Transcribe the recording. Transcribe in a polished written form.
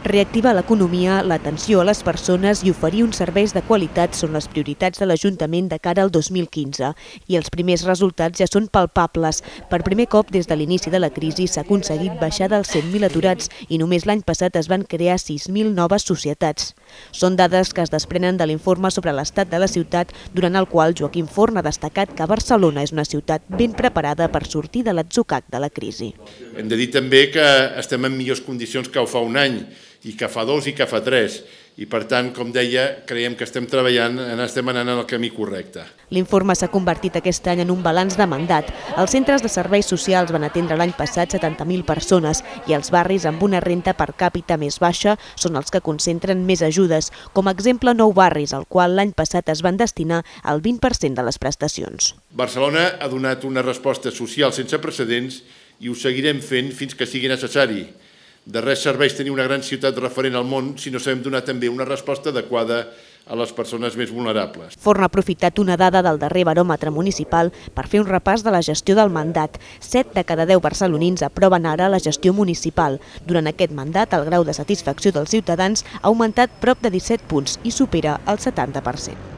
Reactivar l'economia, l'atenció a les persones i oferir uns serveis de qualitat són les prioritats de l'Ajuntament de cara al 2015 i els primers resultats ja són palpables. Per primer cop des de l'inici de la crisi s'ha aconseguit baixar dels 100.000 aturats i només l'any passat es van crear 6.000 noves societats. Són dades que es desprenen de l'informe sobre l'estat de la ciutat, durant el qual Joaquim Forn ha destacat que Barcelona és una ciutat ben preparada per sortir de l'atzucac de la crisi. Hem de dir també que estem en millors condicions que fa un any, i que fa 2 i que fa 3. I per tant, com deia, creiem que estem treballant, estem anant en el camí correcte. L'informe s'ha convertit aquest any en un balanç de mandat. Els centres de serveis socials van atendre l'any passat 70.000 persones i els barris amb una renda per càpita més baixa són els que concentren més ajudes, com a exemple 9 barris, al qual l'any passat es van destinar el 20% de les prestacions. Barcelona ha donat una resposta social sense precedents i ho seguirem fent fins que sigui necessari. De res serveix tenir una gran ciutat referent al món si no sabem donar també una resposta adequada a les persones més vulnerables. Forn ha aprofitat una dada del darrer baròmetre municipal per fer un repàs de la gestió del mandat. 7 de cada 10 barcelonins aproven ara la gestió municipal. Durant aquest mandat, el grau de satisfacció dels ciutadans ha augmentat prop de 17 punts i supera el 70%.